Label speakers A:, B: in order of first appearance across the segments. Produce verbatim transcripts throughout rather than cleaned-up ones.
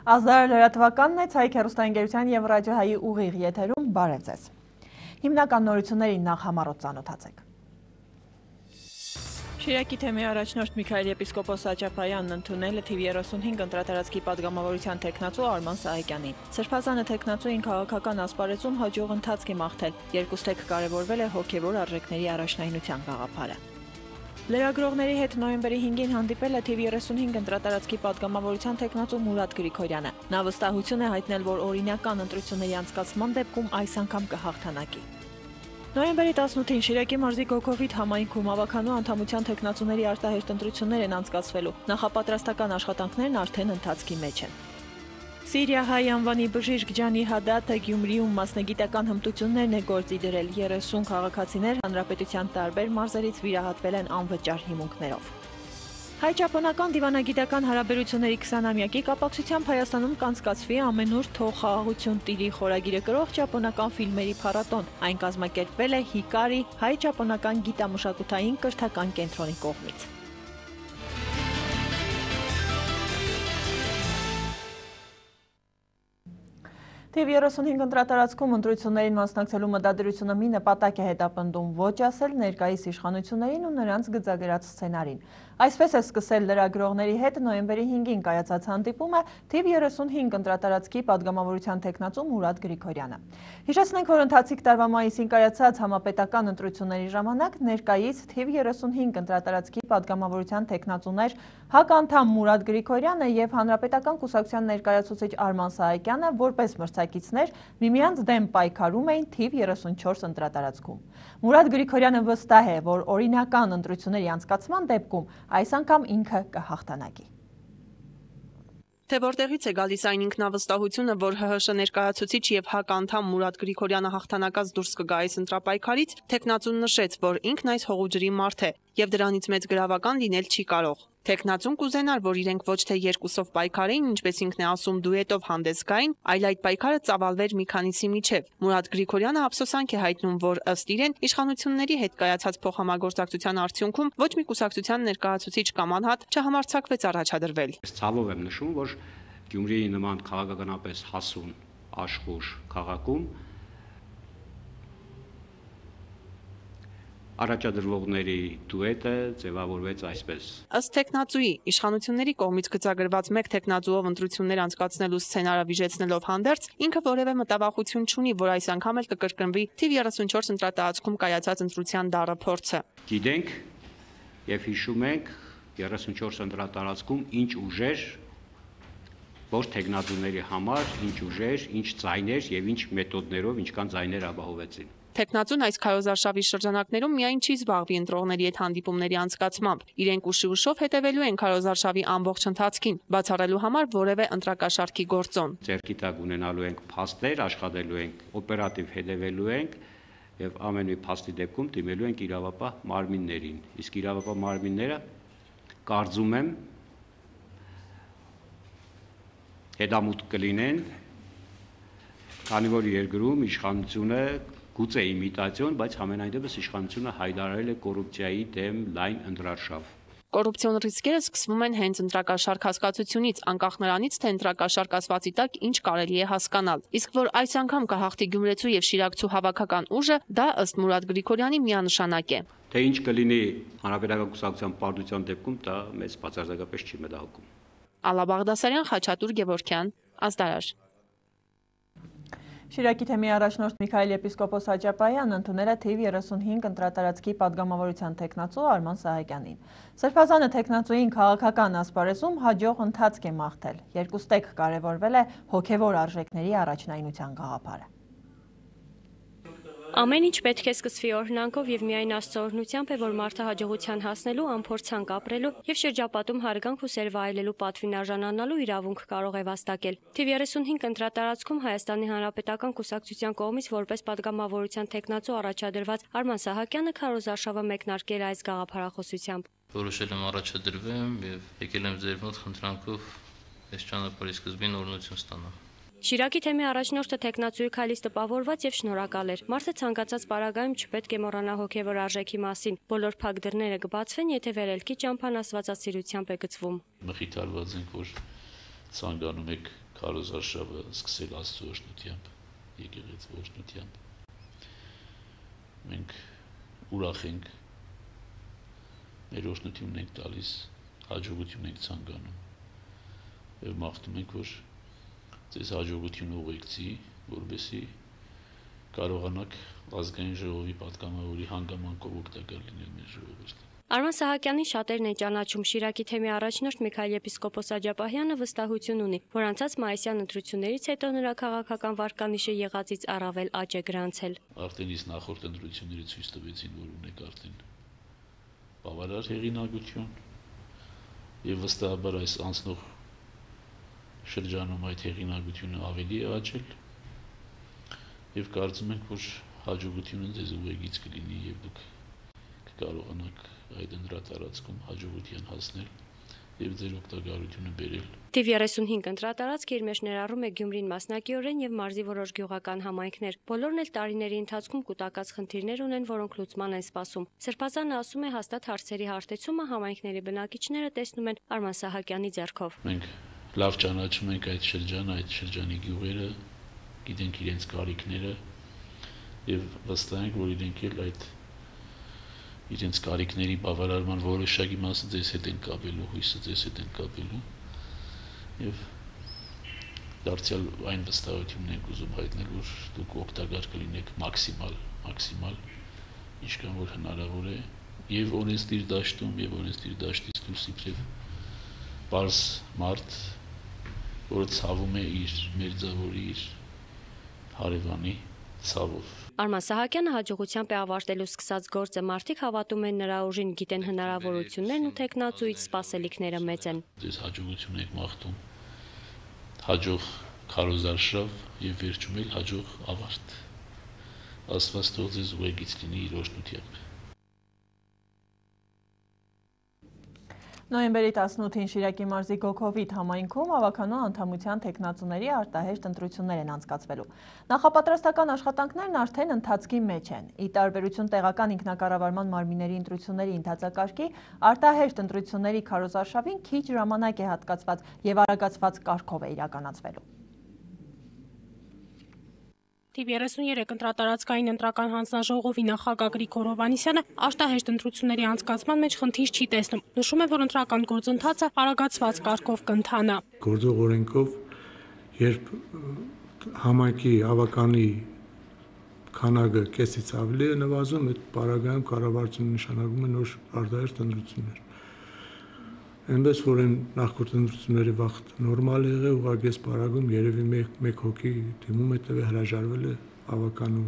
A: Ազդարը լրատվականն է, Ցայք հեռուստաընկերության և ռադիոհայի ուղիղ եթերում, բարև ձեզ։ Հիմնական նորություններին նախ համառոտ ծանոթացեք։ Շիրակի թեմի առաջնորդ Միքայել եպիսկոպոս Աճապայանն ընդունել է թիվ երեսունհինգ ընտրատարածքի պատգամավորության թեկնածու Արման Սահակյանին։ Սրբազանը թեկնածուին քաղաքական ասպարեզում հաջող ընթացք է մաղթել, երկուստեք կարևորվել է հոգևոր արժեքների առաջնայնության գաղափարը։ Լրագրողների հետ նոյեմբերի հինգին հանդիպել է թիվ երեսունհինգ ընտրատարածքի պատգամավորության թեկնածու Մուրադ Գրիգորյանը։ Նա վստահություն է հայտնել, որ օրինական ընտրությունների անցկացման դեպքում այս անգամ կհաղթանակի։ Նոյեմբերի տասնութին Շիրակի մարզի Գոգովիթ համայնքում ավականու անդամության թեկնածուների արտահերթ ընտրություններ են անցկացվելու, նախապատրաստական աշխատանքներն արդեն ընթացքի մեջ են։ Սիրիահայ անվանի բժիշկ Ջանի Հադաթը Գյումրիում մասնագիտական հմտություններն է գործի դրել, երեսուն քաղաքացիներ հանրապետության տարբեր մարզերից վիրահատվել են անվճար հիմունքներով։ Հայ-ճապոնական դիվանագիտական հարաբերությունների քսանամյակի կապակցությամբ Հայաստանում կանցկացվի ամենուր թող խաղաղություն տիրի խորագիրը կրող ճապոնական ֆիլմերի փառատոն։ Այն կազմակերպվել է Հիկարի հայ-ճապոնական գիտամշակութային կրթական կենտրոնի կողմից։ Թիվ երեսունհինգ ընտրատարածքում ընտրություններին մասնակցելու մտադրությունը մի նպատակ է հետապնդում, ոչ ասել ներկայիս իշխանություններին ու նրանց գծագրած սցենարին։ Այսպես է սկսել լրագրողների հետ նոյեմբերի հինգին կայացած հանդիպումը թիվ երեսունհինգ ընտրատարածքի պատգամավորության թեկնածու Մուրադ Գրիգորյանը։ Հիշեցնենք, որ ընթացիկ տարվա մայիսին կայացած համապետական ընտրությունների ժամանակ ներկայիս թիվ երեսունհինգ ընտրատարածքի պատգամավորության թեկնածուներ հականդամ Մուրադ Գրիգորյանը և հանրապետական կուսակցության ներկայացուցիչ Արման Սահակյանը որպես մրցակիցներ միմյանց դեմ պայքարում էին թիվ երեսունչորս ընտրատարածքում։ Մուրադ Գրիգորյանը վստահ է, որ օրինական ընտրությունների անցկացման դեպքում այս անգամ ինքը կհաղթանակի։
B: Թե որտեղից է գալիս այն ինքնավստահությունը, որ ՀՀՇ ներկայացուցիչ և ՀԱԿ անդամ Մուրադ Գրիգորյանը հաղթանակած դուրս կգա այս ընտրապայքարից, թեկնածուն նշեց, որ ինքն այս հողուջրի մարդ է և դրանից մեծ գրավական լինել չի կարող։ Թեկնածուն կուզենար, որ իրենք ոչ թե երկուսով պայքարեին, ինչպես ինքն է ասում, դուետով հանդես գային, այլ այդ պայքարը ծավալվեր մի քանիսի միջև։ Մուրադ Գրիգորյանը ափսոսանք է հայտնում, որ ըստ իրեն իշխանությունների հետ կայացած փոխհամագործակցության արդյունքում ոչ մի կուսակցության ներկայացուցիչ կամ անհատ չհամարձակվեց առաջադրվել։
C: Ցավով եմ նշում, որ Գյումրիի նման քաղաքականապես հասուն աշխուժ քաղաքում առաջադրվողների դուետը ձևավորվեց այսպես։
B: Ըստ թեկնածուի, իշխանությունների կողմից գծագրված մեկ թեկնածուով ընտրություններ անցկացնելու սցենարը վիժեցնելով հանդերձ, ինքը որևէ մտավախություն չունի, որ այս անգամ էլ կկրկնվի թիվ երեսունչորս ընտրատարածքում կայացած ընտրության դառը փորձը։
C: Գիտենք եւ հիշում ենք երեսունչորս ընտրատարածքում ինչ ուժեր, որ թեկնածուների համար ինչ ուժեր, ինչ ձայներ եւ ինչ մեթոդներով ինչքան ձայներ ապահովեցին։
B: Թեկնածուն այս քարոզարշավի շրջանակներում միայն չի զբաղվի ընտրողների հետ հանդիպումների անցկացմամբ։ Իրենք ուշի ուշով հետևելու են քարոզարշավի ամբողջ ընթացքին, բացառելու համար որևէ ընտրակաշառքի գործոն։
C: Ձեռքի տակ ունենալու ենք փաստեր, աշխատելու ենք, օպերատիվ հետևելու ենք եւ ամեն մի փաստի դեպքում դիմելու ենք իրավապահ մարմիններին։ Իսկ իրավապահ մարմինները կարծում եմ հետամուտ կլինեն, քանի որ երկրում իշխանությունը գուցե իմիտացիոն, բայց համենայն դեպս իշխանությունը հայտարարել է կոռուպցիայի դեմ լայն ընտրարշավ։
B: Կոռուպցիոն ռիսկերը սկսվում են հենց ընտրակաշառք հասկացությունից, անկախ նրանից, թե ընտրակաշառք ասվածի տակ ինչ կարելի է հասկանալ։ Իսկ որ այս անգամ կհաղթի գյումրեցու եւ շիրակցու հավաքական ուժը, դա ըստ Մուրադ Գրիգորյանի միանշանակ է։
C: Թե ինչ կլինի հանրապետական կուսակցության պարտության դեպքում, դա մեծ բացարձակապես չի մտահոգում։
B: Ալա Բաղդասարյան, Խաչատուր Գևորգյան, Ազդարար։
A: Շիրակի թեմի առաջնորդ Միքայել եպիսկոպոս Աճապայանն ընդունել է թիվ երեսունհինգ ընտրատարածքի պատգամավորության թեկնածու Արման Սահակյանին։ Սրբազանը թեկնածուին քաղաքական ասպարեզում հաջող ընթացք է մաղթել, երկուստեք կարևորվել է հոգևոր արժեքների առաջնայնության գաղափարը։
D: Ամեն ինչ պետք է սկսվի օրհնանքով եւ միայն Աստծո օրհնությամբ է, որ մարդը հաջողության հասնելու, անփորձանք ապրելու եւ շրջապատում հարգանք ու սեր վայելելու պատվին արժանանալու իրավունք կարող է վաստակել։ Թիվ երեսունհինգ ընտրատարածքում Հայաստանի Հանրապետական կուսակցության կողմից որպես պատգամավորության թեկնածու առաջադրված Արման Սահակյանը քարոզարշավը մեկնարկել է այս գաղափարախոսությամբ։
E: Որոշել եմ առաջադրվեմ եւ եկել եմ ձեր մոտ խնդրանքով այս ճանապարհի սկզբին օրհնություն ստանալ։
D: Շիրակի թեմի առաջնորդը թեկնածուի քայլից տպավորված եւ շնորհակալ էր։ Մարդը ցանկացած պարագայում չպետք է մոռանա հոգեվոր արժեքի մասին։ Բոլոր փակ դռները կբացվեն, եթե վերելքի ճամփան աստվածասիրությամբ է գծվում։
E: Մխիթարված ենք, որ ցանկանում եք
F: քարոզարշավը սկսել Աստծո օրհնությամբ, եկեղեցու օրհնությամբ։ Մենք ուրախ ենք, մեր օրհնությունն ենք տալիս, հաջողություն ենք ցանկանում եւ մաղթում ենք, որ ձեզ հաջողություն ուղեկցի, որովհետեւ կարողանաք ազգային ժողովի պատգամավորի հանգամանքով օգտակար լինել մեր ժողովրդին։
D: Արման Սահակյանին շատերն են ճանաչում։ Շիրակի թեմի առաջնորդ Միքայել եպիսկոպոս Աջապահյանը վստահություն ունի, որ անցած մայիսյան ընտրություններից հետո նրա քաղաքական վարկանիշը եղածից առավել աճ է գրանցել։
F: Արդեն իսկ նախորդ ընտրությունները ցույց տվեցին, որ ունեք արդեն բավարար հեղինակություն եւ վստահաբար այս անցնող շրջանում այդ հեղինակությունը ավելի է աճել եւ կարծում ենք, որ հաջողությունը ձեզ ուղեկից կլինի եւ դուք կկարողանաք այդ ընտրատարածքում հաջողության հասնել եւ ձեր օգտակարությունը բերել։
D: Թիվ երեսունհինգ ընտրատարածք իր մեջ ներառում է Գյումրին մասնակիորեն եւ մարզի որոշ գյուղական համայնքներ։ Բոլորն էլ տարիների ընթացքում կուտակած խնդիրներ ունեն, որոնք լուծման են սպասում։ Սրբազանը ասում է, հաստատ հարցերի հարթեցումը համայնքների բնակիչները տեսնում են Արման Սահակյանի ձեռքով։
F: Մենք լավ ճանաչում ենք այդ շրջանը, այդ շրջանի գյուղերը, գիտենք իրենց կարիքները եւ վստահ ենք, որ իրենք էլ այդ իրենց կարիքների բավարարման որոշակի մասը ձեզ հետ են կապելու, հույսը ձեզ հետ են կապելու եւ դարձյալ այն վստահությունն ենք ուզում հայտնել, որ դուք օգտակար կլինեք մաքսիմալ, մաքսիմալ, ինչքան որ հնարավոր է եւ օրենսդիր դաշտում եւ օրենսդիր դաշտից դուրս իբրև պարզ մարդ, որը ցավում է իր մերձավորի, իր հարևանի ցավով։
D: Արման Սահակյանը հաջողությամբ է ավարտելու սկսած գործը, մարդիկ հավատում են նրա ուժին, գիտեն հնարավորություններն ու թեկնածուից սպասելիքները մեծ են։
F: Ձեզ հաջողություն եք մաղթում, հաջող քարոզարշավ եւ վերջում էլ հաջող ավարտ։ Աստված թող ձեզ ուղեկից լինի իր օրհնությամբ։
A: Նոյեմբերի տասնութին Շիրակի մարզի Գոքովիթ համայնքում ավականու անդամության թեկնածուների արտահերթ ընտրություններ են անցկացվելու։ Նախապատրաստական աշխատանքներն արդեն ընթացքի մեջ են։ Ի տարբերություն տեղական ինքնակառավարման մարմինների ընտրությունների ընթացակարգի, արտահերթ ընտրությունների քարոզարշավին քիչ ժամանակ է հատկացված եւ արագացված կարգով է իրականացվելու։
G: Թիվ երեսուներեք ընտրատարածքային ընտրական հանձնաժողովի նախագահ Գրիգոր Հովհաննիսյանը արտահերթ ընտրությունների անցկացման մեջ խնդիր չի տեսնում։ Նշում է, որ ընտրական գործընթացը արագացված կարգով կընթանա։
H: Գործող օրենքով, երբ համայնքի ավականի քանակը կեսից ավելի է նվազում, այդ պարագայում կառավարությունը նշանակում է նոր արտահերթ ընտրություններ։ Այնպես որ այն նախորդ ընտրությունների վաղ նորմալ է եղել, ուղղակի այս պարագում երևի մեկ հոգի դիմում է տվել հրաժարվել է ավականու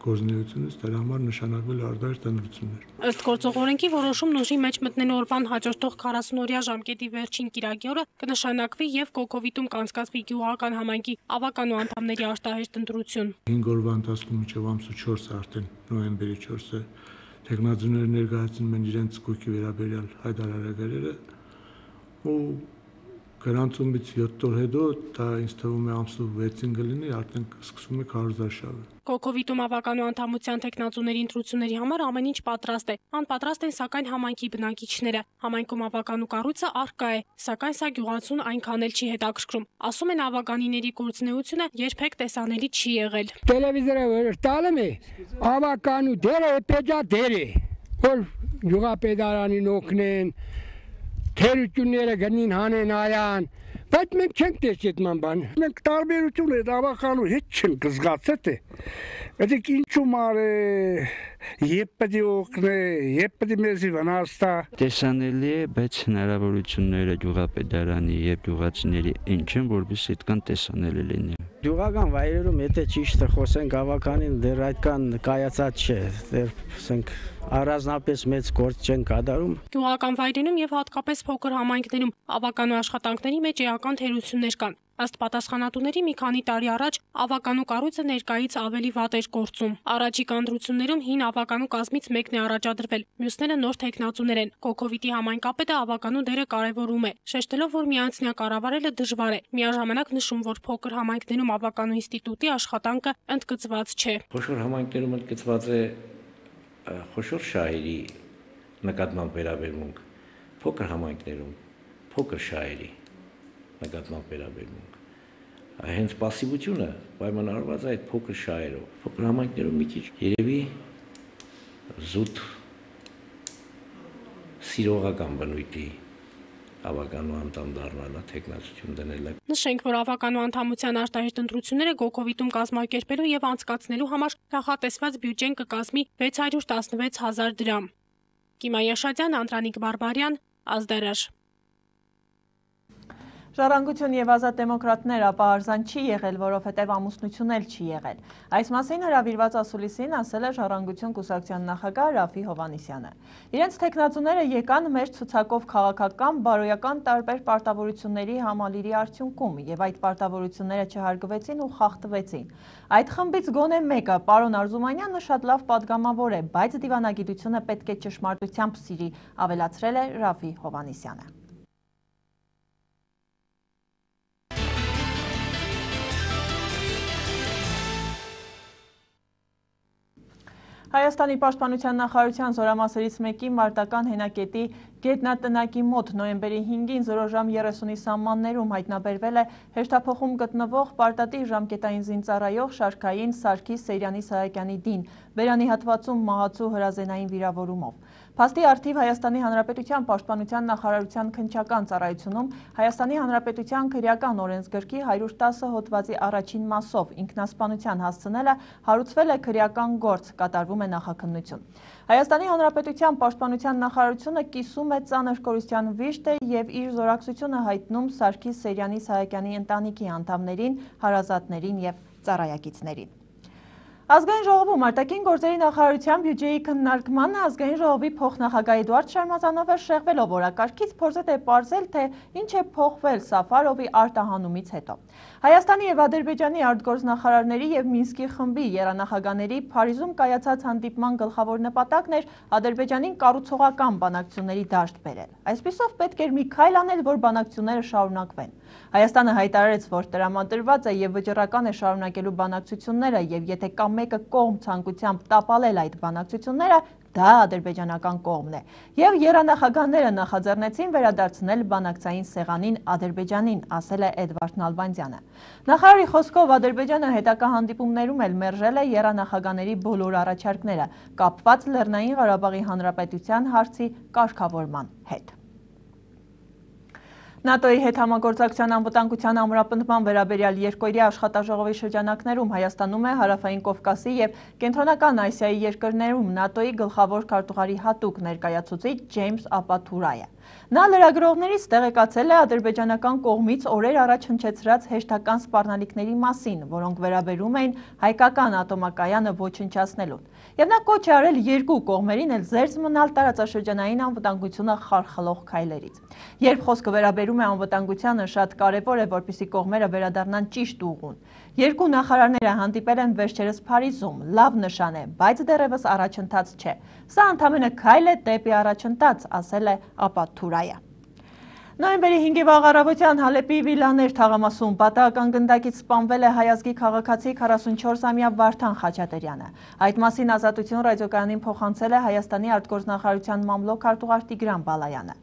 H: գործունեությունից, դրա համար նշանակվել արտահերթ ընտրություններ։
G: Ըստ գործող օրենքի որոշումն ուժի մեջ մտնելու օրվան հաջորդող քառասունօրյա ժամկետի վերջին կիրակի օրը կնշանակվի եւ Գոքովիթում կանցկացվի գյուղական համայնքի ավականու անդամների արտահերթ ընտրություն։
H: հինգ օրվա ընթացքում մինչև ամսու չորսը արդեն նոյեմբերի չորսը թեկնածուները ներկայացնում են իրենց գույքի վերաբերյալ հայտարարագրերը ու գրանցումից յոթ օր հետո դա ինձ թվում է ամսու վեցին կլինի, արդեն սկսվում է քարոզարշավը։
G: Գոքովիթում ավականու անդամության թեկնածուների ընտրությունների համար ամեն ինչ պատրաստ է։ Անպատրաստ են սակայն համայնքի բնակիչները։ Համայնքում ավականու կառույցը առկա է, սակայն սա գյուղացուն այնքան էլ չի հետաքրքրում։ Ասում են ավականիների գործունեությունը երբեք տեսանելի չի եղել։
I: Տելևիզորը տալում է, ավականու դերը պետքա դերը, որ գյուղապետարանին օգնեն, թերությունները գնին հանեն այան, բայց մենք չենք տեսել այդ ման։ Մենք տարբերություն է ավականու հետ չենք զգացել։ Այդ ինչու մարը երբ պետք է օգնե, երբ պետք է մեզի վնասա։
J: Տեսանելի է, բայց հնարավորությունները գյուղապետարանի եւ գյուղացիների ինչ են, որովհետեւ այդքան տեսանելի լինի։
I: Գյուղական վայրերում եթե ճիշտը խոսենք, ավականին դեռ այդքան կայացած չէ, դեռ ասենք առանձնապես մեծ գործ չեն կատարում։
G: Գյուղական վայրերում եւ հատկապես փոքր համայնքներում ավականու աշխատանքների մեջ էական թերություններ կան։ Ըստ պատասխանատուների մի քանի տարի առաջ ավականու կառույցը ներկայից ավելի վատ էր գործում։ Առաջիկա ընտրություններում հին ավականու կազմից մեկն է առաջադրվել, մյուսները նոր թեկնածուներ են։ Գոքովիթի համայնքապետը ավականու դերը կարևորում է, շեշտելով, որ միանձնյա կառավարելը դժվար է։ Միաժամանակ նշում, որ փոքր համայնքներում ավականու ինստիտուտի աշխատանքը ընդգծված չէ։
K: Խոշոր համայնքներում ընդգծված է խոշոր շահերի նկատմամբ վերաբերմունք, փոքր համայնքներում փոքր շահերի նկատմամբ վերաբերմունք։ Հենց пассивությունը պայմանավորված է այդ փոքր շահերով։ Փոքր համայնքներում մի քիչ երևի զուտ սիրողական բնույթի ավականու անդամ դառնալը, թեկնածություն դնելը։
G: Նշենք, որ ավականու անդամության արտահերտ ընտրությունները Գոկովիտում կազմակերպելու եւ անցկացնելու համար նախատեսված բյուջեն կկազմի վեց հարյուր տասնվեց հազար դրամ։ Կիմա Աշատյան, Անդրանիկ Բարբարյան, Ազդարաշ։
A: Ժառանգություն եւ ազատ դեմոկրատներ ապահարզան չի եղել, որովհետեւ ամուսնություն էլ չի եղել։ Այս մասին հրավիրված ասուլիսին ասել է Ժառանգություն կուսակցության նախագահ Ռաֆի Հովհաննիսյանը։ Իրենց թեկնածուները եկան մեր ցուցակով քաղաքական, բարոյական տարբեր պարտավորությունների համալիրի արդյունքում եւ այդ պարտավորությունները չհարգվեցին ու խախտվեցին։ Այդ խմբից գոնե մեկը, պարոն Արզումանյանը, շատ լավ падգամավոր է, բայց դիվանագիտությունը պետք է ճշմարտությամբ սիրի, ավելացրել է Ռաֆի Հովհաննիսյանը։ Հայաստանի պաշտպանության նախարարության զորամասերից մեկի մարտական հենակետի գետնատնակի մոտ նոյեմբերի հինգին զորո ժամ երեսունի սահմաններում հայտնաբերվել է հեշտափոխում գտնվող պարտատի ժամկետային զինծառայող շարքային Սարգիս Սեյրանի Սահակյանի դին, բերանի հատվածում մահացու հրազենային վիրավորումով։ Փաստի առթիվ Հայաստանի Հանրապետության պաշտպանության նախարարության քննչական ծառայությունում Հայաստանի Հանրապետության քրեական օրենսգրքի հարյուր տասը հոդվածի առաջին մասով ինքնասպանության հասցնելը հարուցվել է քրեական գործ, կատարվում է նախաքննություն։ Հայաստանի Հանրապետության պաշտպանության նախարարությունը կիսում է ծանր կորուստյան վիշտը եւ իր զորակցությունը հայտնում Սարգիս Սեյրանի Սահակյանի ընտանիքի անդամներին, հարազատներին եւ ծառայակիցներին։ Ազգային ժողովում արտաքին գործերի նախարարության բյուջեի քննարկմանը ազգային ժողովի փոխնախագահ Էդուարդ Շարմազանովը շեղվելով օրակարգից փորձել է պարզել, թե ինչ է փոխվել Սաֆարովի արտահանումից հետո։ Հայաստանի եւ Ադրբեջանի արտգործնախարարների եւ Մինսկի խմբի երանախագահների Փարիզում կայացած հանդիպման գլխավոր նպատակն էր Ադրբեջանին կառուցողական բանակցությունների դաշտ բերել։ Այսպիսով պետք էր մի քայլ անել, որ բանակցությունները շարունակվեն։ Հայաստանը հայտարարեց, որ տրամադրված է եւ վճռական է շարունակելու բանակցությունները եւ եթե կա մեկը կողմ ցանկությամբ տապալել այդ բանակցությունները, դա ադրբեջանական կողմն է։ Եվ երանախագահները նախաձեռնեցին վերադարձնել բանակցային սեղանին Ադրբեջանին, ասել է Էդվարդ Նալբանդյանը։ Նախարարի խոսքով Ադրբեջանը հետագա հանդիպումներում էլ մերժել է երանախագահների բոլոր առաջարկները, կապված Լեռնային Ղարաբաղի Հանրապետության հարցի կարգավորման հետ։ ՆԱՏՕ-ի հետ համագործակցության անվտանգության ամրապնդման վերաբերյալ երկօրյա աշխատաժողովի շրջանակներում Հայաստանում է Հարավային Կովկասի եւ Կենտրոնական Ասիայի երկրներում ՆԱՏՕ-ի գլխավոր քարտուղարի հատուկ ներկայացուցիչ Ջեյմս Ապաթուրայը։ Նա լրագրողներից տեղեկացել է ադրբեջանական կողմից օրեր առաջ հնչեցրած հեշտական սպառնալիքների մասին, որոնք վերաբերում էին հայկական ատոմակայանը ոչնչացնելուն։ Եվ նա կոչ է արել երկու կողմերին էլ զերծ մնալ տարածաշրջանային անվտանգությունը խարխլող քայլերից։ Երբ խոսքը վերաբերում է անվտանգությանը, շատ կարևոր է, որպեսզի կողմերը վերադառնան ճիշտ ուղուն։ Երկու նախարարները հանդիպել են վերջերս Փարիզում, լավ նշան է, բայց դեռևս առաջընթաց չէ։ Սա ընդամենը քայլ է դեպի առաջընթաց, ասել է Ապաթուրայը։ Նոյեմբերի հինգի վաղ առավոտյան Հալեպի Վիլաներ թաղամասում պատահական գնդակից սպանվել է հայազգի քաղաքացի քառասունչորսամյա Վարդան Խաչատրյանը։ Այդ մասին Ազատություն ռադիոկայանին փոխանցել է Հայաստանի արտգործնախարարության մամլոք քարտուղար Տիգրան Բալայանը։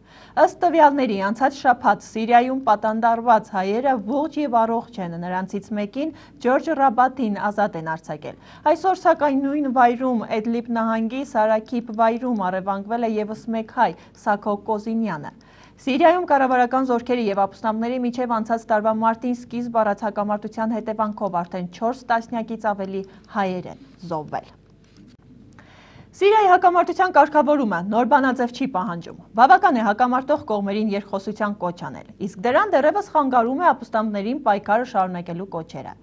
A: Ըստ տվյալների, անցած շաբաթ Սիրիայում պատանդարված հայերը ողջ եւ առողջ են, նրանցից մեկին Ջորջ Ռաբատին ազատ են արձակել։ Այսօր սակայն նույն վայրում Էդլիբ նահանգի Սարաքիփ վայրում առևանգվել է եւս մեկ հայ՝ Սաքո Կոզինյանը։ Սիրիայում կառավարական զորքերի եւ ապստամբների միջև անցած տարվա մարտին սկիզբ առած հակամարտության հետևանքով արդեն չորս տասնյակից ավելի հայեր են զոհվել։ Սիրիայի հակամարտության կարգավորումը նոր բանաձև չի պահանջում։ Բավական է հակամարտող կողմերին երկխոսության կոչ անել, իսկ դրան դեռևս խանգարում է ապստամբներին պայքարը շարունակելու կոչերը։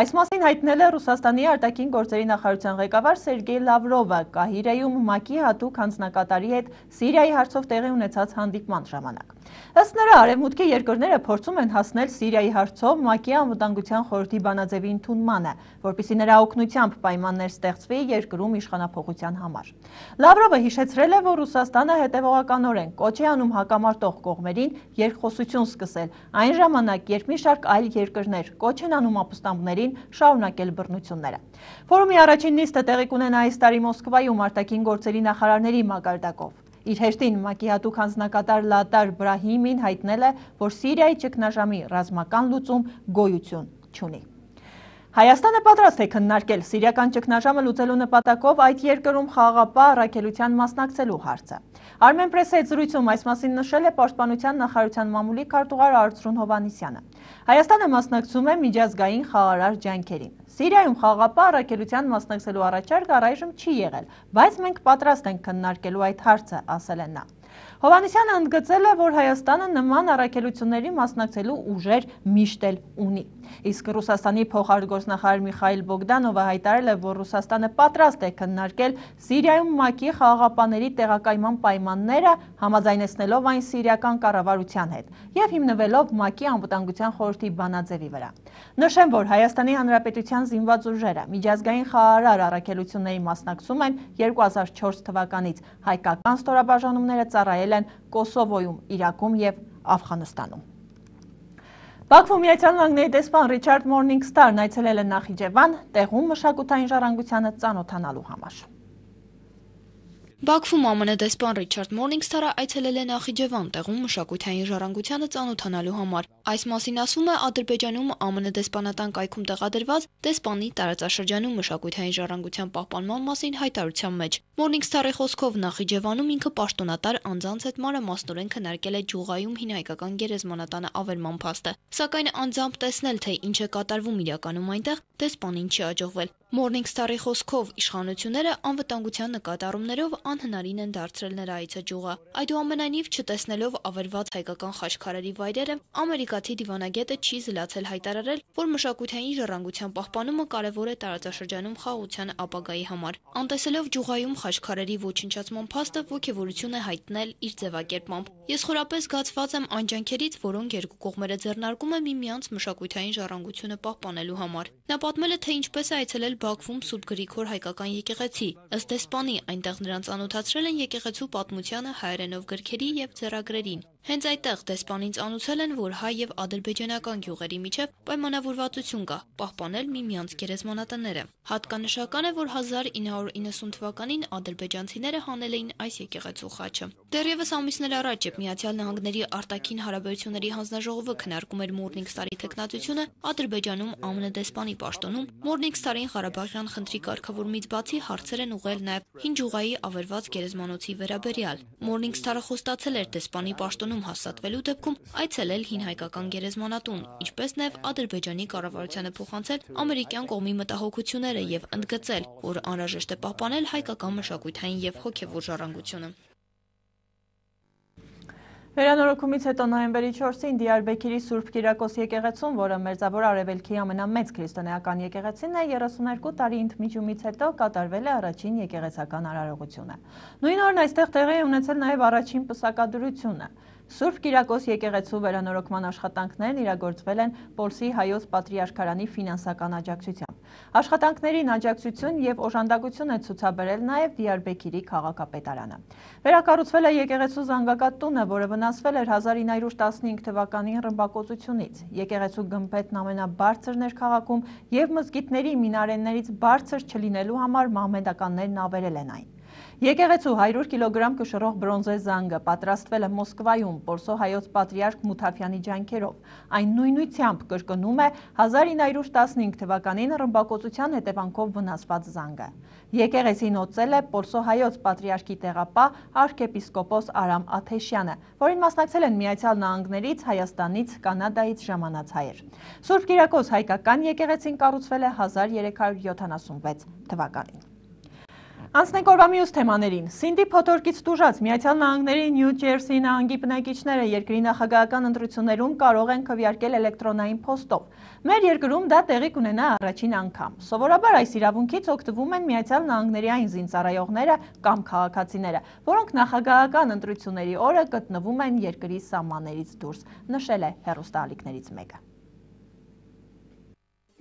A: Այս մասին հայտնել է Ռուսաստանի արտաքին գործերի նախարարության ղեկավար Սերգեյ Լավրովը Կահիրեում ՄԱԿ-ի հատուկ հանձնակատարի հետ Սիրիայի հարցով տեղի ունեցած հանդիպման ժամանակ։ Ըստ նրա, արևմուտքի երկրները փորձում են հասնել Սիրիայի հարցով ՄԱԿ-ի անվտանգության խորհրդի բանաձևի ընդունմանը, որպեսզի նրա օգնությամբ պայմաններ ստեղծվի երկրում իշխանափոխության համար։ Լավրովը հիշեցրել է, որ Ռուսաստանը հետևողականորեն կոչ է անում հակամարտող կողմերին երկխոսություն սկսել, այն ժամանակ, երբ մի շարք այլ երկրներ կոչ են անում ապստամբներին շարունակել բռնությունները։ Ֆորումի առաջին նիստը տեղի կունենա այս տարի Մոսկվայում արտաքին գործերի նախարարների մակարդակով։ Իր հեշտին ՄԱԿ-ի հատուկ հանձնակատար Լատար Բրահիմին հայտնել է, որ Սիրիայի ճգնաժամի ռազմական լուծում գոյություն չունի։ Հայաստանը պատրաստ է քննարկել սիրիական ճգնաժամը լուծելու նպատակով այդ երկրում խաղաղապահ առաքելության մասնակցելու հարցը։ Armenpress-ի հետ զրույցում այս մասին նշել է Պաշտպանության նախարարության մամուլի քարտուղար Արծրուն Հովհաննիսյանը։ Հայաստանը մասնակցում է միջազգային խաղարար ջանքերին։ Սիրիայում խաղաղապահ առաքելության մասնակցելու առաջարկ առայժմ չի եղել, բայց մենք պատրաստ ենք քննարկելու այդ հարցը, ասել է նա։ Հովհաննիսյանը ընդգծել է, որ Հայաստանը նման առաքելությունների մասնակցելու ուժեր միշտ էլ ունի։ Իսկ Ռուսաստանի փոխարտգործնախարար Միխայիլ Բոգդանովը հայտարարել է, որ Ռուսաստանը պատրաստ է քննարկել Սիրիայում ՄԱԿ-ի խաղաղապահների տեղակայման պայմանները, համաձայնեցնելով այն սիրիական կառավարության հետ եւ հիմնվելով ՄԱԿ-ի անվտանգության խորհրդի բանաձևի վրա։ Նշեմ, որ Հայաստանի Հանրապետության զինված ուժերը միջազգային խաղարար առաքելությունների մասնակցում են երկու հազար չորս թվականից, հայկական ստորաբաժանումները ծառայել են Կոսովոյում, Իրաքում եւ Աֆղանստանում։ Բաքվում Միացյալ Նահանգների դեսպան Ռիչարդ Մորնինգստարն այցելել է Նախիջևան, տեղում մշակութային ժառանգությանը ծանոթանալու համար։
L: Բաքվում ԱՄՆ դեսպան Ռիչարդ Մորնինգստարը այցելել է Նախիջևան, տեղում մշակութային ժառանգությանը ծանոթանալու համար։ Այս մասին ասվում է Ադրբեջանում ԱՄՆ դեսպանատան կայքում տեղադրված դեսպանի տարածաշրջանում մշակութային ժառանգության պահպանման մասին հայտարարության մեջ։ Մորնինգստարի խոսքով Նախիջևանում ինքը պաշտոնատար անձանց հետ մանրամասնորեն քննարկել է Ջուղայում հին հայկական գերեզմանատանը ավերման փաստը, սակայն անձամբ տեսնել, թե ինչ է կատարվում իրականում այնտեղ, դեսպանին չի հաջողվել։ Մորնինգստարի խոսքով իշխանությունները անվտանգության նկատառումներով անհնարին են դարձրել նրա այցը Ջուղա։ Այդուամենայնիվ, չտեսնելով ավերված հայկական խաչքարերի վայրերը, ամերիկացի դիվանագետը չի զլացել հայտարարել, որ մշակութային ժառանգության պահպանումը կարևոր է տարածաշրջանում խաղաղության ապագայի համար։ Անտեսելով Ջուղայում խաչքարերի ոչնչացման փաստը, ոգևորություն է հայտնել իր ձևակերպմամբ։ Ես խորապես զգացված եմ այն ջանքերից, որոնք երկու կողմերը ձեռնարկում են միմյանց մշակութային ժառանգությունը պահպանելու համար։ Նա պատմել է, թե ինչպես է այցելել Բաքվում Սուրբ Գրիգոր հայկական եկեղեցի։ Ըստ դեսպանի, այնտեղ նրան ծանոթացրել են եկեղեցու պատմությանը, հայերենով գրքերի եւ ձեռագրերին։ Հենց այդտեղ դեսպանին ծանուցել են, որ հայ եւ ադրբեջանական գյուղերի միջև պայմանավորվածություն կա՝ պահպանել միմյանց գերեզմանատները։ Հատկանշական է, որ հազար ինը հարյուր իննսուն թվականին ադրբեջանցիները հանել էին այս եկեղեցու խաչը։ Դեռևս ամիսներ առաջ, երբ Միացյալ Նահանգների արտաքին հարաբերությունների հանձնաժողովը քննարկում էր Մորնինգստարի թեկնածությունը, Ադրբեջանում ԱՄՆ դեսպանի պաշտոնում Մորնինգստարին Ղարաբաղյան խնդրի կարգավորումից բացի հարցեր են ուղղել նաև հին Ջուղայի ավերված գերեզմանոցի վերաբերյալ։ Մորնինգստարը խոստացել էր դեսպանի պաշտոնում հաստատվելու դեպքում այցելել հին հայկական գերեզմանատուն, ինչպես նաև Ադրբեջանի կառավարությանը փոխանցել ամերիկյան կողմի մտահոգությունները եւ ընդգծել, որ անհրաժեշտ է պահպանել հայկական մշակութային եւ հոգեվոր ժառանգությունը։
A: Վերանորոգումից հետո նոյեմբերի չորսին Դիարբեքիրի Սուրբ Կիրակոս եկեղեցում, որը Մերձավոր Արևելքի ամենամեծ քրիստոնեական եկեղեցին է, երեսունհերկու տարի ընդմիջումից հետո կատարվել է առաջին եկեղեցական արարողությունը։ Նույն օրն այստեղ տեղի է ունեցել նաև առաջին պսակադրությունը։ Սուրբ Կիրակոս եկեղեցու վերանորոգման աշխատանքներն իրագործվել են Պոլսի հայոց պատրիարքարանի ֆինանսական աջակցությամբ։ Աշխատանքներին աջակցություն եւ օժանդակություն է ցուցաբերել նաև Դիարբեքիրի քաղաքապետարանը։ Վերակառուցվել է եկեղեցու զանգակատ տունը, որը վնասվել էր հազար ինը հարյուր տասնհինգ թվականի ռմբակոծությունից։ Եկեղեցու գմբեթն ամենաբարձրն էր քաղաքում եւ մզգիթների մինարեններից բարձր չլինելու համար մահմեդականներն ավերել են այն։ Եկեղեցու հարյուր կիլոգրամ կշռող բրոնզե զանգը պատրաստվել է Մոսկվայում Պոլսո հայոց պատրիարք Մութաֆյանի ջանքերով։ Այն նույնությամբ կրկնում է հազար ինը հարյուր տասնհինգ թվականին ռմբակոծության հետևանքով վնասված զանգը։ Եկեղեցին օծել է Պոլսո հայոց պատրիարքի տեղապահ արքեպիսկոպոս Արամ Աթեշյանը, որին մասնակցել են Միացյալ Նահանգներից, Հայաստանից, Կանադայից ժամանած հայեր։ Սուրբ Կիրակոս հայկական եկեղեցին կառուցվել է հազար երեք հարյուր յոթանասունվեց թվականին։ Անցնենք օրվա մյուս թեմաներին։ Սինդի փոթորկից տուժած Միացյալ Նահանգների Նյու Ջերսի նահանգի բնակիչները երկրի նախագահական ընտրություններում կարող են քվեարկել էլեկտրոնային փոստով։ Մեր երկրում դա տեղի կունենա առաջին անգամ։ Սովորաբար այս իրավունքից օգտվում են Միացյալ Նահանգների այն զինծառայողները կամ քաղաքացիները, որոնք նախագահական ընտրությունների օրը գտնվում են երկրի սահմաններից դուրս, նշել է հեռուստաալիքներից մեկը։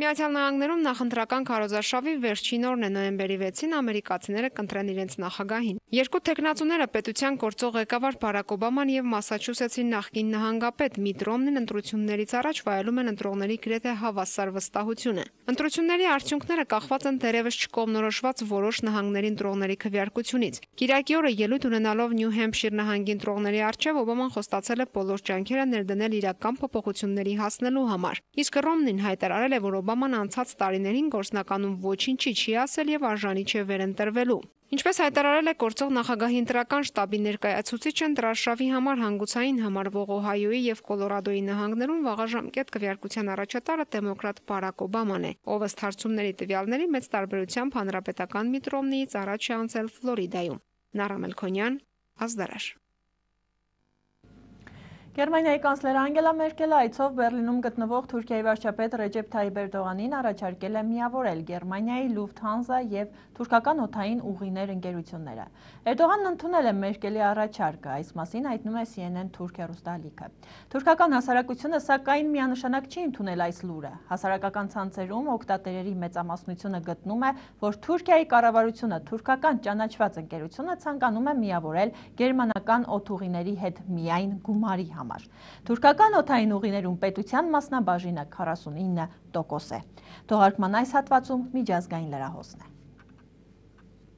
M: Միացյալ Նահանգներում նախընտրական քարոզարշավի վերջին օրն է նոյեմբերի վեցին ամերիկացիները կընտրեն իրենց նախագահին։ Երկու տեխնացուները պետության գործող ղեկավար Բարակ Օբաման եւ Մասաչուսեթսի նախկին նահանգապետ Միտ Ռոմնին ընտրություններից առաջ վայելում են ընտրողների գրեթե հավասար վստահությունը։ Ընտրությունների արդյունքները կախված են դերևս չկողմնորոշված որոշ նահանգների ընտրողների քվեարկությունից։ Կիրակի օրը ելույթ ունենալով Նյու Հեմփշիր նահանգի ընտրողների առջև Օբաման խոստացել է բոլոր ջանքերը ներդնել իրական փոփոխությունների հասնելու համար։ Իսկ Ռոմնին հայտարարել է, որ Օբաման անցած տարիներին գործնականում ոչինչի չի ասել եւ արժանի չէ վերընտրվելու։ Ինչպես հայտարարել է գործող նախագահի ընտրական շտաբի ներկայացուցիչը, ընտրարշավի համար հանգուցային համարվող Օհայոյի եւ Կոլորադոյի նահանգներում վաղաժամկետ քվեարկության առաջատարը դեմոկրատ Բարակ Օբաման է, ով ըստ հարցումների տվյալների մեծ տարբերությամբ հանրապետական Միտ Ռոմնիից առաջ է անցել Ֆլորիդայում։ Նարա Մելքոնյան, Ազդարաշ։
A: Գերմանիայի կանցլեր Անգելա Մերկելը այցով Բերլինում գտնվող Թուրքիայի վարչապետ Ռեջեփ Թայիպ Էրդողանին առաջարկել է միավորել Գերմանիայի Լուֆթհանզա եւ թուրքական օդային ուղիներ ընկերությունները։ Էրդողանն ընդունել է Մերկելի առաջարկը, այս մասին հայտնում է C N N Թուրք հեռուստաալիքը։ Թուրքական հասարակությունը սակայն միանշանակ չի ընդունել այս լուրը։ Հասարակական ցանցերում օգտատերերի մեծամասնությունը գտնում է, որ Թուրքիայի կառավարությունը թուրքական ճանաչված ընկերությունը ցանկանում է միավորել գերմանական օդուղիների հետ միայն գումարի համար։ Թուրքական օդային ուղիներում պետության մասնաբաժինը քառասունինը տոկոս է։ Թողարկման այս հատվածում միջազգային լրահոսն է։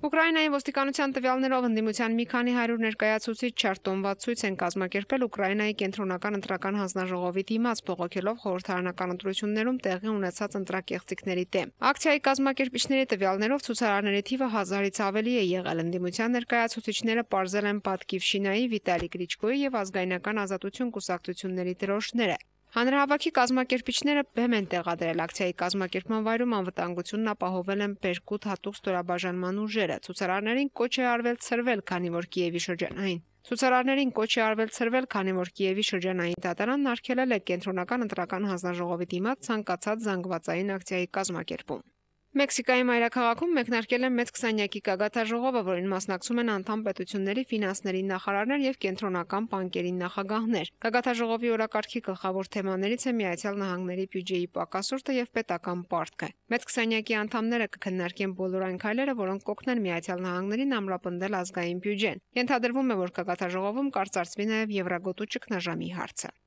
M: Ուկրաինայի ոստիկանության տվյալներով ընդդիմության մի քանի հարյուր ներկայացուցիչ չարտոնված ցույց են կազմակերպել Ուկրաինայի կենտրոնական ընտրական հանձնաժողովի դիմաց, բողոքելով խորհրդարանական ընտրություններում տեղի ունեցած ընտրակեղծիքների դեմ։ Ակցիայի կազմակերպիչների տվյալներով ցուցարարների թիվը հազարից ավելի է եղել։ Ընդդիմության ներկայացուցիչները պարզել են Պատկիվշինայի, Վիտալի Կլիչկոյի եւ ազգայնական ազատություն կուսակցությունների դրոշները։ Հանրահավաքի կազմակերպիչները բեմ են տեղադրել ակցիայի կազմակերպման վայրում անվտանգությունն ապահովել են Բերկուտ հատուկ ստորաբաժանման ուժերը։ Ցուցարարներին կոչ է արվել ցրվել, քանի որ Կիևի շրջանային Ցուցարարներին կոչ է արվել ցրվել, քանի որ Կիևի շրջանային դատարանն արգելել է կենտրոնական ընտրական հանձնաժողովի դիմաց ցանկացած զանգվածային ակցիայի կազմակերպում։ Մեքսիկայի մայրաքաղաքում մեկնարկել է մեծ քսանյակի գագաթաժողովը, որին մասնակցում են անդամ պետությունների ֆինանսների նախարարներ եւ կենտրոնական բանկերի նախագահներ։ Գագաթաժողովի օրակարգի գլխավոր թեմաներից է Միացյալ Նահանգների բյուջեի պակասորտը եւ պետական պարտքը։ Մեծ քսանյակի անդամները կքննարկեն բոլոր այն քայլերը, որոնք կօգնեն Միացյալ Նահանգներին ամրապնդել ազգային բյուջեն։ Ենթադրվում է, որ գագաթաժողովում կարծարծվի նաեւ Եվրագոտու ճգնաժամի հարցը։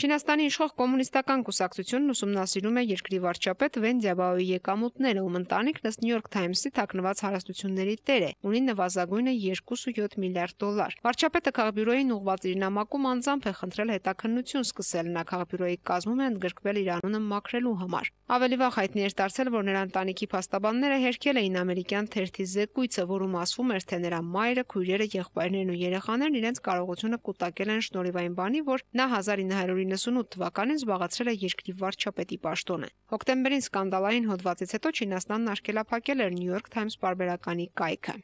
M: Չինաստանի իշխող կոմունիստական կուսակցությունն ուսումնասիրում է երկրի վարչապետ Վեն Ձյաբաոյի եկամուտները, ում ընտանիքն ըստ Նյու Յորք Թայմսի թաքնված հարստությունների տեր է, ունի նվազագույնը երկու կόμμα յոթ միլիարդ դոլար։ Վարչապետը քաղբյուրոյին ուղղված իր նամակում անձամբ է խնդրել հետաքննություն սկսել, նա քաղբյուրոյի կազմում է ընդգրկվել իր անունը մաքրելու համար։ Ավելի վաղ հայտնի էր դարձել, որ նրա ընտանիքի փաստաբանները հերքել էին ամերիկյան թերթի զեկույցը, որում ասվում էր, թե նրա մայրը, քույրերը, եղբայրներն ու երեխաներն իրենց կարողությունը կուտակել են շնորհիվ այն բանի, որ նա հազար ինը հարյուր իննսունութ թվականին զբաղեցրել է երկրի վարչապետի պաշտոնը։ Հոկտեմբերին սկանդալային հոդվածից հետո Չինաստանն արգելափակել էր Նյու Յորք Թայմս պարբերականի կայքը։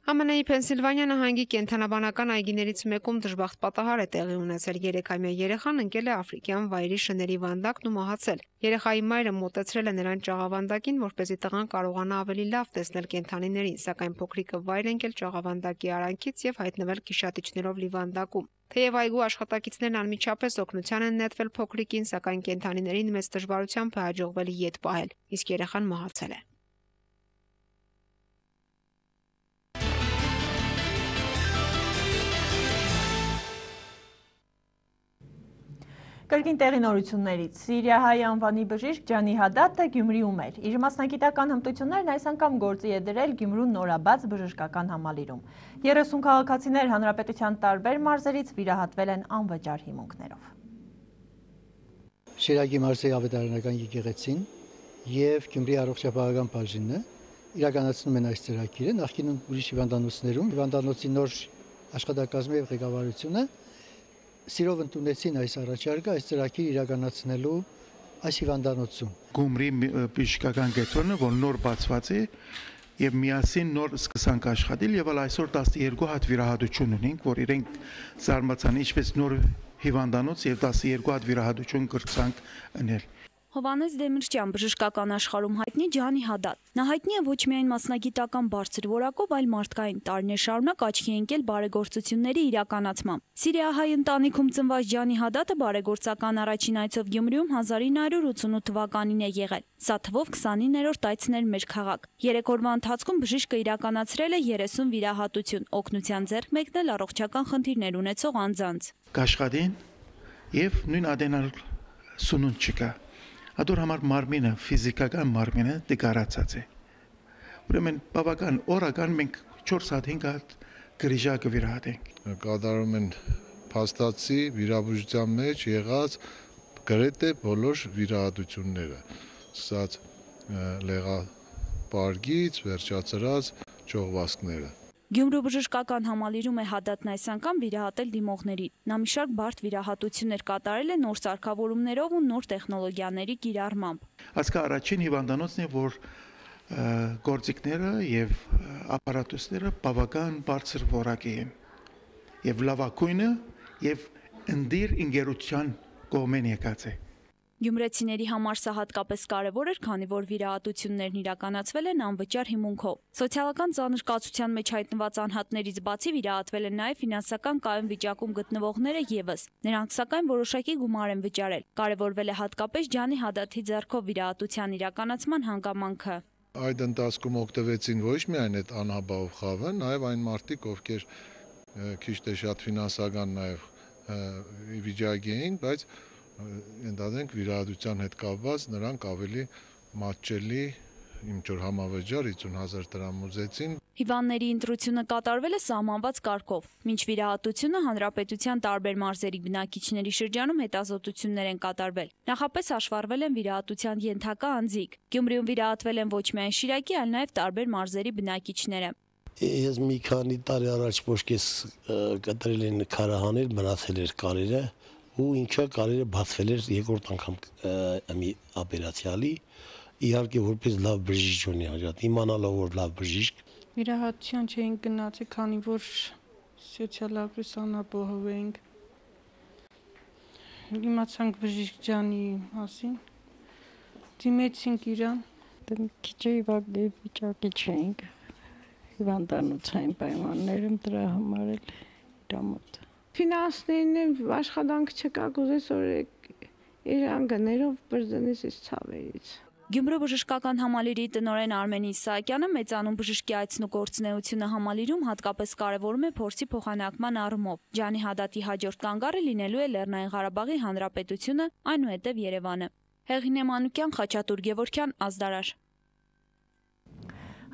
M: Ամենայի Փենսիլվանիա նահանգի կենթանաբանական այգիներից մեկում դժբախտ պատահար է տեղի ունեցել։ Երեքամյա երեխան ընկել է աֆրիկյան վայրի շների վանդակն ու մահացել։ Երեխայի մայրը մոտեցրել է նրան ճաղավանդակին, որպեսզի տղան կարողանա ավելի լավ տեսնել կենդանիներին, սակայն փոքրիկը վայր ընկել ճաղավանդակի արանքից եւ հայտնվել գիշատիչներով լի վանդակում։ Թեև այգու աշխատակիցներն անմիջապես օգնության են նետվել փոքրիկին, սակայն կենդանիներին մեծ դժվարությամբ է հաջողվել ետ պահել, իսկ երեխան մահացել է։
A: Կրկին տեղի նորություններից Սիրիահայ անվանի բժիշկ Ջանի Հադադը Գյումրիում էր։ Իր մասնագիտական հմտություններն այս անգամ գործի է դրել Գյումրու նորաբաց բժշկական համալիրում։ երեսուն քաղաքացիներ հանրապետության տարբեր մարզերից վիրահատվել են անվճար հիմունքներով։
N: Շիրակի մարզի ավետարանական եկեղեցին եւ Գյումրի առողջապահական բաժինը իրականացնում են այս ծրագիրը։ Նախկինում ուրիշ հիվանդանոցներում հիվանդանոցի նոր աշխատակազմի եւ ղեկավարությունը սիրով ընդունեցին այս առաջարկը, այս ծրագիրը իրականացնելու այս հիվանդանոցում։
O: Գյումրի բժշկական կենտրոնը, որ նոր բացված է եւ միասին նոր սկսանք աշխատել եւ այսօր տասնյոթ հատ վիրահատություն ունենք, որ իրենք զարմացան ինչպես նոր հիվանդանոց եւ տասնյոթ հատ վիրահատություն կրցանք անել։
P: Հովանես Դեմիրճյան բժշկական աշխարհում հայտնի Ջանի Հադատ։ Նա հայտնի է ոչ միայն մասնագիտական բարձր որակով, այլ մարդկային տարիներ շարունակ աչքի ընկել բարեգործությունների իրականացմամբ։ Սիրիահայ ընտանիքում ծնված Ջանի Հադատը բարեգործական առաջին այցով Գյումրիում հազար ինը հարյուր ութսունութ թվականին է եղել։ Սա թվով քսանիններորդ այցն էր մեր քաղաք։ Երեք օրվա ընթացքում բժիշկը իրականացրել է երեսուն վիրահատություն, օգնության ձեռք մեկնել առողջական խնդիրներ ունեցող անձանց։
O: Կաշխատին եւ նույն ադենալ սունուն չկա։ Ադոր համար մարմինը, ֆիզիկական մարմինը դեկարացած է։ Ուրեմն բավական օրական մենք չորս հատ հինգ հատ գրիժակը վիրահատենք։
Q: Կատարում են փաստացի վիրաբուժության մեջ եղած գրեթե բոլոր վիրահատությունները, սկսած լեղապարգից, վերջացրած ճողվածքները։
P: Գյումրու բժշկական համալիրում է Հադատն այս անգամ վիրահատել դիմողներին։ Նա մի շարք բարդ վիրահատություններ կատարել է նոր սարքավորումներով ու նոր տեխնոլոգիաների կիրառմամբ։
O: Ասկա առաջին հիվանդանոցն է, որ գործիքները եւ ապարատուսները բավական բարձր որակի են եւ լավագույնը եւ ընդիր ինգերության կողմեն եկած է։
P: Գյումրեցիների համար սա հատկապես կարևոր էր, քանի որ վիրահատություններն իրականացվել են անվճար հիմունքով։ Սոցիալական ծանրկացության մեջ հայտնված անհատներից բացի վիրահատվել են նաև ֆինանսական կայուն վիճակում գտնվողները ևս։ Նրանք սակայն որոշակի գումար են վճարել։ Կարևորվել է հատկապես Ջանի Հադատի ձեռքով վիրահատության իրականացման հանգամանքը։
Q: Այդ ընթացքում օգտվեցին ոչ միայն այդ անհաբաղ խավը, նաև այն մարդիկ, ովքեր քիչ թե շատ ֆինանսական նաև վիճակի էին, բայց ընդհանրենք վիրահատության հետ կապված նրանք ավելի մատչելի իմ ճոր համավճար հիսուն հազար դրամ ուզեցին։
P: Հիվանդների ընտրությունը կատարվել է սահմանված կարգով։ Մինչ վիրահատությունը հանրապետության տարբեր մարզերի բնակիչների շրջանում հետազոտություններ են կատարվել։ Նախապես հաշվառվել են վիրահատության ենթակա անձիկ։ Գյումրիում վիրահատվել են ոչ միայն Շիրակի, այլ նաև տարբեր մարզերի բնակիչները։
R: Ես մի քանի տարի առաջ ոչ կես կտրել են քարահանել, մնացել էր կարերը ու ինչա կարերը բացվել էր երկրորդ անգամ մի օպերացիալի, իհարկե որպես լավ բժիշկ ունի հաջատ, իմանալով որ լավ բժիշկ։
S: Վիրահատության չէին գնացել, քանի որ սոցիալական անապահով էինք։ Իմացանք բժիշկ Ջանի մասին, դիմեցինք իրան,
T: քիչ վիճակի չէինք, հիվանդանոցային պայմաններում դրա համար էլ իրամոտ։
S: Ֆինանսներն աշխատանք չկա, կուզես որ իրան գներով բրձնես իս ցավերից։
P: Գյումրու բժշկական համալիրի տնօրեն Արմեն Իսահակյանը մեծանուն բժշկի այցն ու գործունեությունը համալիրում հատկապես կարևորում է փորձի փոխանակման առումով։ Ջանի Հադատի հաջորդ կանգառը լինելու է Լեռնային Ղարաբաղի Հանրապետությունը, այնուհետև Երևանը։ Հեղինե Մանուկյան, Խաչատուր Գևորգյան, Ազդարար։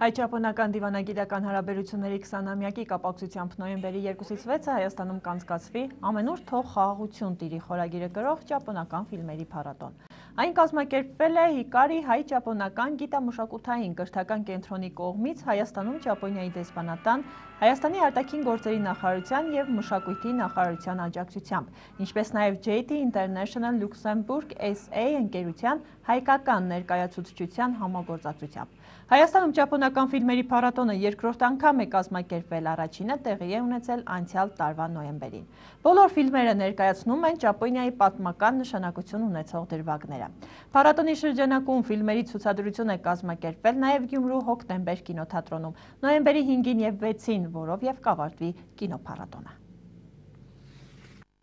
A: Հայ-ճապոնական դիվանագիտական հարաբերությունների քսանամյակի կապակցությամբ նոյեմբերի երկուսից վեցը Հայաստանում կանցկացվի «Ամենուր թող խաղաղություն տիրի» խորագիրը կրող ճապոնական ֆիլմերի փառատոն։ Այն կազմակերպվել է Հիկարի հայ-ճապոնական գիտամշակութային կրթական կենտրոնի կողմից Հայաստանում Ճապոնիայի դեսպանատան, Հայաստանի արտաքին գործերի նախարարության և մշակույթի նախարարության աջակցությամբ, ինչպես նաև J T International Luxembourg S A ընկերության հայկական ներկայացուցչության համագործակցությամբ։ Հայաստանում ճապոնական ֆիլմերի փառատոնը երկրորդ անգամ է կազմակերպվել, առաջինը տեղի է ունեցել անցյալ տարվա նոյեմբերին։ Բոլոր ֆիլմերը ներկայացնում են Ճապոնիայի պատմական նշանակություն ունեցող դրվագները։ Փառատոնի շրջանակում ֆիլմերի ցուցադրություն է կազմակերպվել նաև Գյումրու Հոկտեմբեր կինոթատրոնում, նոյեմբերի հինգին և վեցին, որով և կավարտվի կինոփառատոնը։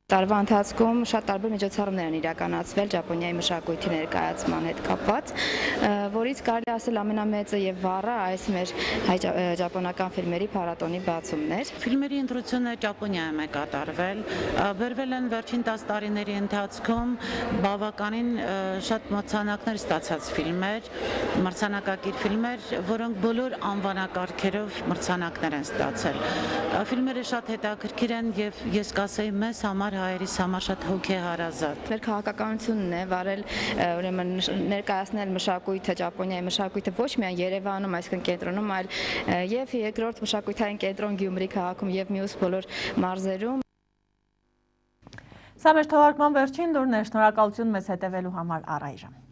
U: Տարվա ընթացքում շատ տարբեր միջոցառումներ են իրականացվել Ճապոնիայի մշակույթի ներկայացման հետ կապված, որից կարելի ասել ամենամեծը եւ վառը այս մեր հայ-ճապոնական ֆիլմերի փառատոնի բացումն էր։
V: Ֆիլմերի ընտրությունը Ճապոնիայում է կատարվել, բերվել են վերջին տասը տարիների ընթացքում բավականին շատ մրցանակներ ստացած ֆիլմեր, մրցանակակիր ֆիլմեր, որոնք բոլոր անվանակարգերով մրցանակներ են ստացել։ Ֆիլմերը շատ հետաքրքիր են եւ ես կասեի մեզ համար հայերիս համար շատ հոգեհարազատ։
U: Մեր քաղաքականությունն է վարել, ուրեմն ներկայացնել մշակույթը, Ճապոնիայի մշակույթը ոչ միայն Երևանում, այսինքն կենտրոնում, այլ եւ երկրորդ մշակութային կենտրոն Գյումրի քաղաքում եւ մյուս բոլոր մարզերում։
A: Սա մեր թողարկման վերջին լուրն էր, շնորհակալություն մեզ հետևելու համար առայժմ։